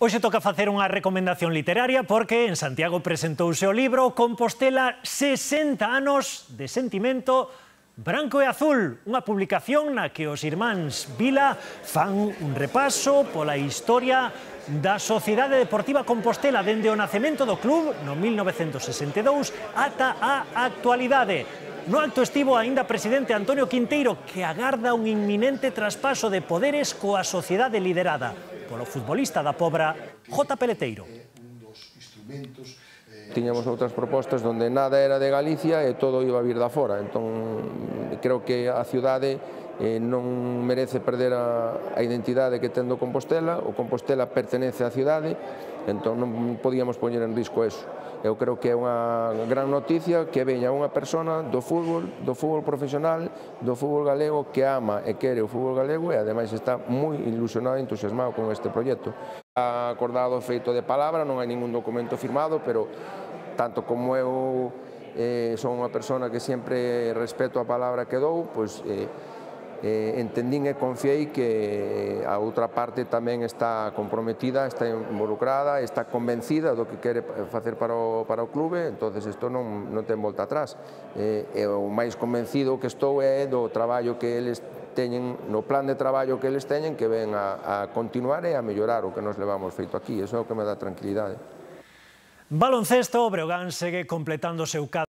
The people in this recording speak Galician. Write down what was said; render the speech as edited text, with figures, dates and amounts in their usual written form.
Hoxe toca facer unha recomendación literaria porque en Santiago presentouse o libro Compostela 60 anos de sentimento branco e azul, unha publicación na que os irmáns Vila fan un repaso pola historia da Sociedade Deportiva Compostela dende o nacemento do club no 1962 ata a actualidade. No acto estivo aínda presidente Antonio Quinteiro, que agarda un inminente traspaso de poderes coa sociedade liderada polo futbolista da Pobra, J. Peleteiro. Tiñamos outras propostas onde nada era de Galicia e todo iba a vir da fora, entón creo que a cidade non merece perder a identidade que ten do Compostela, o Compostela pertenece á cidade, entón non podíamos poñer en risco eso. Eu creo que é unha gran noticia que veña unha persona do fútbol profesional, do fútbol galego, que ama e quere o fútbol galego e ademais está moi ilusionado e entusiasmado con este proxecto. Está acordado feito de palabra, non hai ningún documento firmado, pero tanto como eu son unha persona que sempre respeto a palabra que dou, pois entendín e confiei que a outra parte tamén está comprometida, está involucrada, está convencida do que quere facer para o clube, entonces isto non ten volta atrás. E o máis convencido que estou é do traballo que eles teñen, no plan de traballo que eles teñen, que ven a continuar e a mellorar o que nos levamos feito aquí, iso é o que me dá tranquilidade. Baloncesto, o Breogán segue completando o seu cadro.